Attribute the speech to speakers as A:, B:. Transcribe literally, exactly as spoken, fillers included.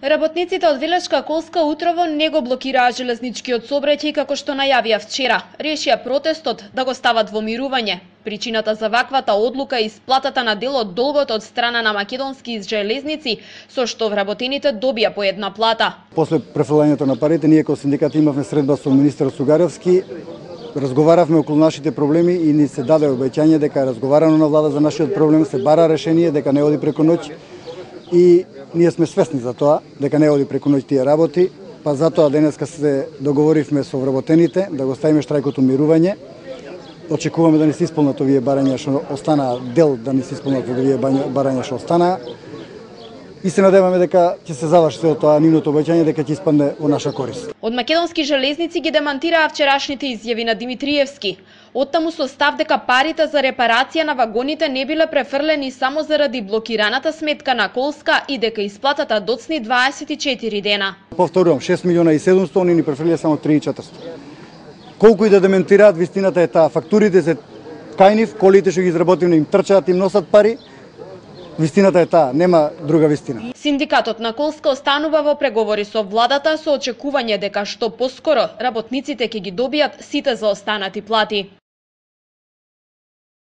A: Работниците од Велешка Колска утрово не го блокираа железничкиот сообраќај како што најавија вчера. Решија протестот да го стават во мирување. Причината за ваквата одлука е исплатата на дел од долгот од страна на македонски железници, со што вработените добија по една плата.
B: После префрлањето на парите, ние како синдикат имавме средба со министерот Сугаровски, разговаравме околу нашите проблеми и ни се даде обеќање дека е разговарано на влада за нашиот проблем, се бара решение, дека не оди преку ноќ. И ние сме свесни за тоа, дека не оди преку ноќ тие работи, па затоа денеска се договоривме со вработените да го ставиме штрајкот умирување. Очекуваме да не се исполнат овие барања што останаа, дел да не се исполнат од овие барања што останаа. И се надеваме дека ќе се заврши се од тоа нивното обеќање дека ќе испадне во наша корист.
A: Од македонски железници ги демантираа вчерашните изјави на Димитриевски. Оттаму со став дека парите за репарација на вагоните не биле префрлени само заради блокираната сметка на Колска и дека исплатата доцни дваесет и четири дена.
B: Повторувам, шест милиона и седумстотини, они ни префрлија само три и четиристотини. Колку и да дементираат, вистината е таа. Фактурите се кај нив, колите што ги изработивме им трчаат, им носат пари. Вистината е таа, нема друга вистина.
A: Синдикатот на Колска останува во преговори со владата со очекување дека што поскоро работниците ќе ги добијат сите заостанати плати.